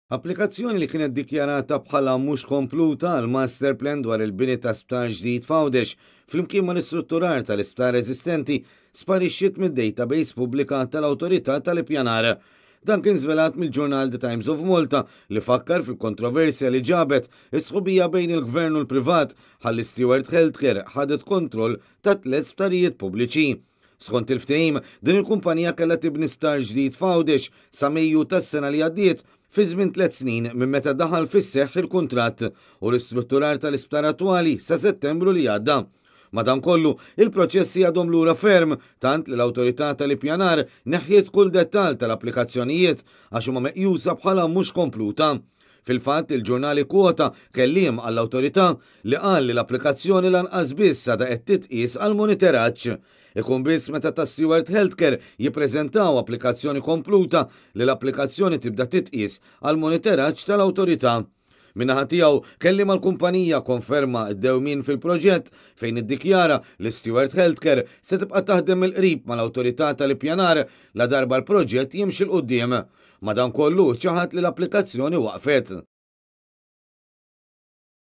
Applikazzjoni li kienet dikjarata bħala mhux kompluta għal master plan dwar il-bini ta' sptar ġdid f'Għawdex flimkien mal-istrutturar tal-isptar eżistenti sparixxiet mid-database pubblika tal-Awtorità tal-Ippjanar. Dan kien żvelat mill-ġurnal The Times of Malta li fakkar fil-kontroversja li ġabet is-sħubija bejn il-Gvern u l-privat ħalli Steward Healthcare ħadet kontroll ta' tliet sptarijiet pubbliċi. Skont il-ftehim, din il-kumpanija kellha tibni sptar ġdid f'Għawdex sa Mejju tas-sena li għaddiet, fi żmien 3 snin minn meta daħal fis-seħħ il-kuntratt u l-istrutturar tal-isptar attwali sa Settembru li għadda. Madankollu, il-proċessi għadhom lura ferm, tant li l-Awtorità tal-Ippjanar neħħiet kull dettal tal-applikazzjonijiet għax huma meqjusa bħala mhux kompluta. Fil-fatt, il-ġurnali kwota kelliem għall-awtorità li qal li l-applikazzjoni lanqas biss għadha qed titqies għal monitoraġġ. Ikun biss meta ta' Steward Healthcare jippreżentaw applikazzjoni kompluta li l-applikazzjoni tibda titqies għal monitoraġġ tal-awtorità. Min-naħa tiegħu, kelliem għall-kumpanija konferma d-dewmin fil-proġett fejn iddikjara li Steward Healthcare se tibqa' taħdem mill-qrib mal-Awtorità tal-Ippjanar la darba l-proġett jimxi 'l quddiem. Madankollu ċaħad li l-applikazzjoni waqfet.